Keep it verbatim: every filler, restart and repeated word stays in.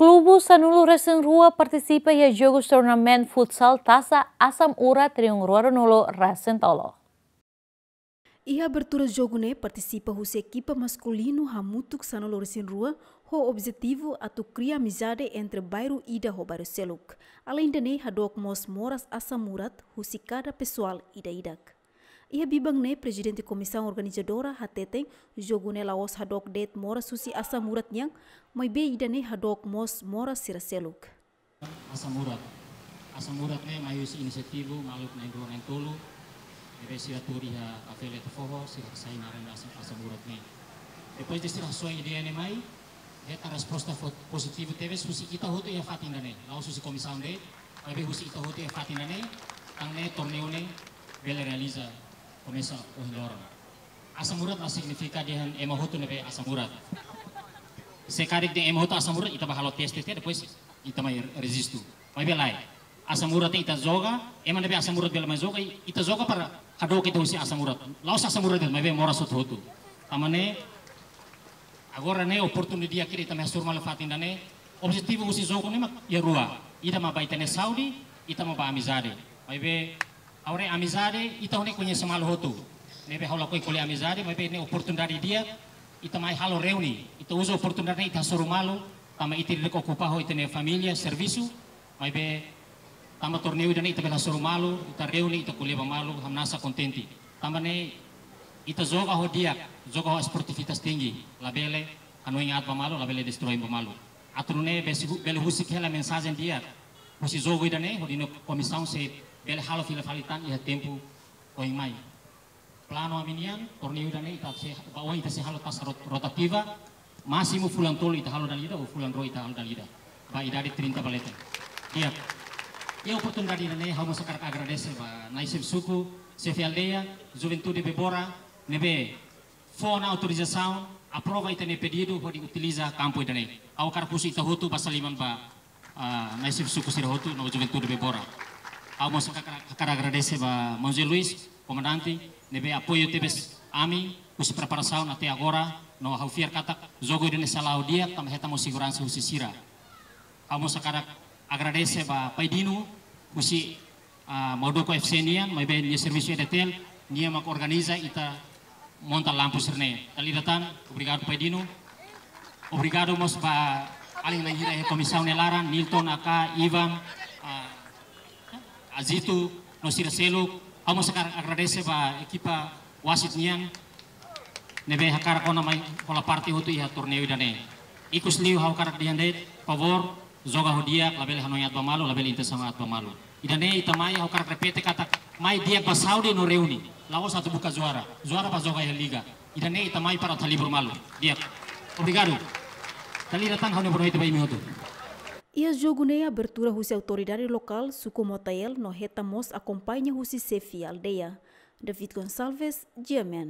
Klubu sanulu-resin-rua partisipa iha jogu turnamenta futsal Taça Asam Urat rihun rua ruanulu-resin-tolu. Iha abertura jogu ne'e partisipa husi ekipa maskulinu hamutuk sanulu-resin-rua, ho objetivu atu kria amizade entre bairru ida ho bairru seluk. Aleinde ne'e hadook mós moras Asam Urat husi kada pesoál ida-idak. Iha biban ne'e Prezidente Komisaun Organizadora hateten, jogu ne'e la'ós hadook de'it moras husi Asam Urat nian, maibé ida-ne'e hadook mós moras sira seluk. Asam Urat. Asam Urat ne'e mai husi inisiativu maluk na'in-rua na'in-tolu. Ne'ebé sira tuur iha Kafele Ita Foho, sira sai naran Asam, Asam Urat ne'e. Depois de sira hasoru ideia ne'e mai, hetan resposta fo-, pozitivu tebes husi ita hotu iha fatin ida-ne'e. La'ós husi komisaun de'it, maibé husi ita hotu iha fatin ida-ne'e, tan ne'e torneiu ne'e bele realiza komesa ohin loron. Asam Urat la signifika dehan ema hotu ne'ebé Asam Urat. Se karik dehan ema hotu Asam Urat, ita bá halo teste tiha, depois ita mai rejistu. Maibé lae, Asam Urat ita joga, ema ne'ebé Asam Urat bele mai joga, i-, ita joga para hadook ita husi Asam Urat. La'ós Asam Urat de'it, maibé moras hotu-hotu. Tanba ne'e, agora ne'e oportunidade ida ita mai hasoru malu fatin ida-ne'e. Objetivu husi jogu ne'e mak iha rua. Ida mak ba ita-nia saúde, ida mak ba amizade. Maibé, ha'u haree amizade, ita hotu ne'e koñese malu hotu. Ne'ebé ha'u lakohi ko'alia amizade, maibé ne'e oportunidade di'ak, ita mai halo reuni. Ita uza oportunidade ne'e ita hasoru malu, tanba ita ida-idak okupa ho ita-nia família, servisu, maibé tanba torneiu ida-ne'e ita bele hasoru malu, ita reuni, ita ko'alia ba malu, hamnasa kontente. Tanba ne'e ita joga ho di'ak, joga ho esportivitas tinggi, labele hanoin aat ba malu, labele destrói ba malu. Atu nune'e bele hu-, bele husik hela mensajen di'ak husi jogu ida-ne'e, hodi ita-nia komisaun sei bele halo fila fali tan iha tempu oin mai. Planu ami-nian, torneiu ida-ne'e ita sei, ba oin ita sei halo taxa rot-, rotativa, másimu fulan tolu ita halo dala ida, ou fulan rua ita halo dala ida. Ba idade trinta ba leten. Di'ak. Iha oportunidade ida-ne'e, ha'u mós hakarak agradese ba nai xefe suku, xefe aldeia, juventude Bebora, ne'ebé fó ona autorizasaun, aprova ita-nia pedidu, hodi utiliza kampu ida-ne'e. Ha'u hakarak husu ita hotu basa liman ba, ah, nai xefe suku sira hotu, no juventude Bebora. Ha'u mós hakarak, hakarak agradese ba Maun José Luis, komandante, ne'ebé apoiu tebes ami, husi preparasaun até agora, no ha'u fiar katak jogu ida-ne'e sei la'o di'ak, tanba hetan mós seguransa husi sira. Ha'u mós hakarak agradese ba Pai Dino, husi ah, Maudoko F C nian, maibé nia servisu E D T L, nia mak organiza ita monta lampu sira-ne'e. Dala ida tan, obrigadu Pai Dino. Obrigadu mós ba alin na'in hira iha komisaun nia laran, Nilton, Aka, Ivan, ah, Azito, no sira seluk. Ha'u mós hakarak agradese ba ekipa wasit nian, ne'ebé hakarak ona mai hola parte hotu iha torneiu ida-ne'e. Ikusliu ha'u hakarak dehan de'it, favór, joga ho di'ak, labele hanoin aat ba malu, labele intensaun aat ba malu. Ida-ne'e ita mai, ha'u hakarak repete katak, mai di'ak ba saúde no reuni. La'ós atu buka juara. Juara bá joga iha liga. Ida-ne'e ita mai para atu halibur malu. Di'ak. Obrigadu. Dala ida tan ha'u-nia boa noite ba imi hotu. Iha jogu ne'e abertura husi autoridade lokál, suku Motael, no hetan mós akompaña husi xefe aldeia. David Gonçalves, G M N.